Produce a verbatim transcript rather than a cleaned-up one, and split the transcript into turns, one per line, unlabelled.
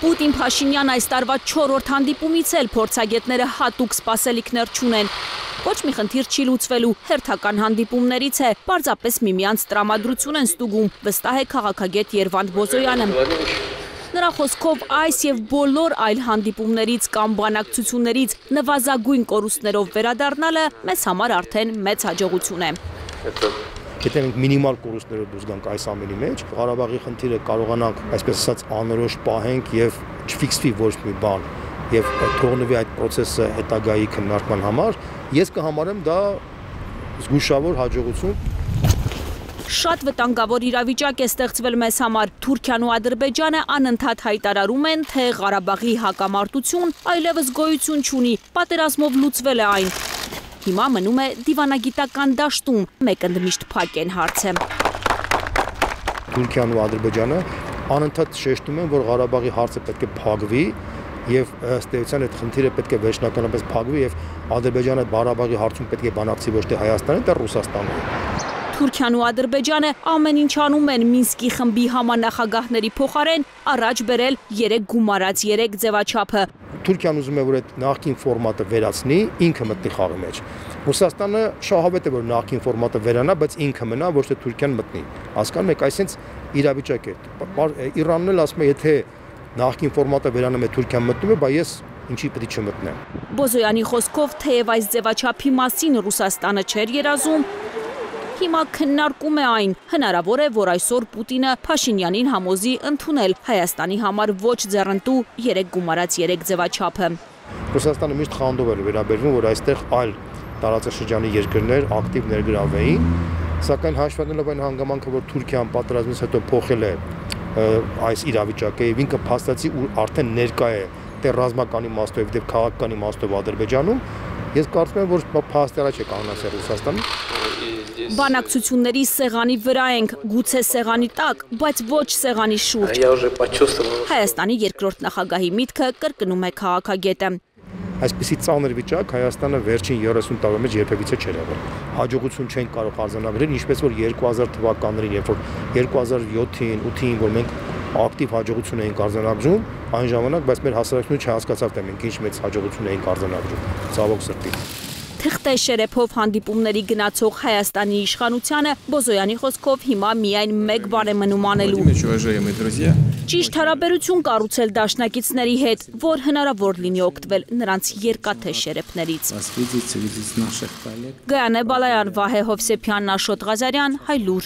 Պուտին-Փաշինյան այս տարվա չորրորդ հանդիպումից էլ փորձագետները հատուկ սպասելիքներ չունեն։ Ոչ մի խնդիր չի լուծվելու, հերթական հանդիպումներից է, պարզապես միմյանց տրամադրություն են ստուգում, վստահ է քաղաքագետ Երվանդ Բոզոյանը։ Նրա խոսքով այս եւ բոլոր այլ հանդիպումներից կամ բանակցություններից նվազագույն կորուստներով վերադառնալը մեզ համար արդեն մեծ հաջողություն է։
Եթե մենք մինիմալ կորուստներով դուրս գանք այս ամենի մեջ, Ղարաբաղի խնդիրը կարողանանք, այսպես ասած, անորոշ պահենք եւ չֆիքսվի ոչ մի բան եւ թողնվի այդ process-ը հետագայի քննարկման համար, ես կհամարեմ դա զգուշավոր հաջողություն։
Շատ վտանգավոր իրավիճակ է ստեղծվել մեզ համար։ Թուրքիան ու Ադրբեջանը անընդհատ հայտարարում են, թե Ղարաբաղի հակամարտություն այլևս գոյություն չունի, պատերազմով լուծվել է այն։ Հիմա մնում է դիվանագիտական դաշտում, մեկ ընդմիշտ փակ են հարցը։
Թուրքիան ու Ադրբեջանը անընդհատ շեշտում են, որ Ղարաբաղի հարցը պետք է փակվի եւ ըստ էության այդ խնդիրը պետք է վերջնականապես փակվի եւ Ադրբեջանը Ղարաբաղի հարցում պետք է բանակցի ոչ թե Հայաստանին, այլ Ռուսաստանին։
Թուրքիան ու Ադրբեջանը ամեն ինչ անում են Մինսկի խմբի համանախագահների փոխարեն առաջ բերել երեք գումարած երեք ձևաչափը։
Թուրքիան ուզում է, որ այդ նախկին ֆորմատը վերացնի, ինքը մտնի խաղի մեջ։ Ռուսաստանը շահավետ է, որ նախկին ֆորմատը վերանա, բայց ինքը մնա, ոչ թե Թուրքիան մտնի։ Հասկանում եք, այսինքն իրավիճակ է։ Իրանն էլ ասում է, եթե նախկին ֆորմատը վերանում է, Թուրքիան մտնում է, բայց ես ինչի պետք է չմտնեմ։
Բոզոյանի խոսքով, թեև այս ձևաչափի մասին Ռուսաստանը չէր երազում, հիմա քննարկում է այն։ Հնարավոր է, որ այսօր Պուտինը Փաշինյանին համոզի ընդունել Հայաստանի համար ոչ ձեռնտու երեք գումարած երեք ձևաչափը։
Ռուսաստանը միշտ խանդով էր վերաբերվում, որ այստեղ այլ տարածաշրջանի երկրներ ակտիվ ներգրավվեին, սակայն հաշվառելով այն հանգամանքը, որ Թուրքիան պատերազմից հետո փոխել է այս իրավիճակը եւ ինքը փաստացի ու արդեն ներկա է դեռ ռազմական իմաստով եւ քաղաքական իմաստով Ադրբեջանում, ես կարծում եմ, որ փաստերը չէ կանոնացել Ռուսաստանը։
Բանակցությունների սեղանի վրա ենք, գուցե սեղանի տակ, բայց ոչ սեղանի շուրջ։ Հայաստանի երկրորդ նախագահի միտքը կրկնում է քաղաքագետը։
Այսպիսի ծանր վիճակ Հայաստանը վերջին երեսուն տարվա մեջ երբևիցե չէր եղել։ Հաջողություն չեն կարող արձանագրել, ինչպես որ երկու հազար թվականներին, երբ որ երկու հազար յոթին, ութին, որ մենք ակտիվ հաջողություն էինք արձանագրում, այն ժամանակ, բայց մեր հասարակությունը չհասկացավ, թե մենք ինչ մեծ հաջողություն էինք արձանագրում, ցավոք սրտի։
Թղթե շերեփով հանդիպումների գնացող Հայաստանի իշխանությանը Բոզոյանի խոսքով հիմա միայն մեկ բան է մնում անելու։ Ճիշտ հարաբերություն կառուցել դաշնակիցների հետ, որ հնարավոր լինի օգտվել նրանց երկաթե շերեփներից։ Գայանե Բալայան, Վահե Հովսեփյան, Աշոտ Ղազարյան, Հայլուր։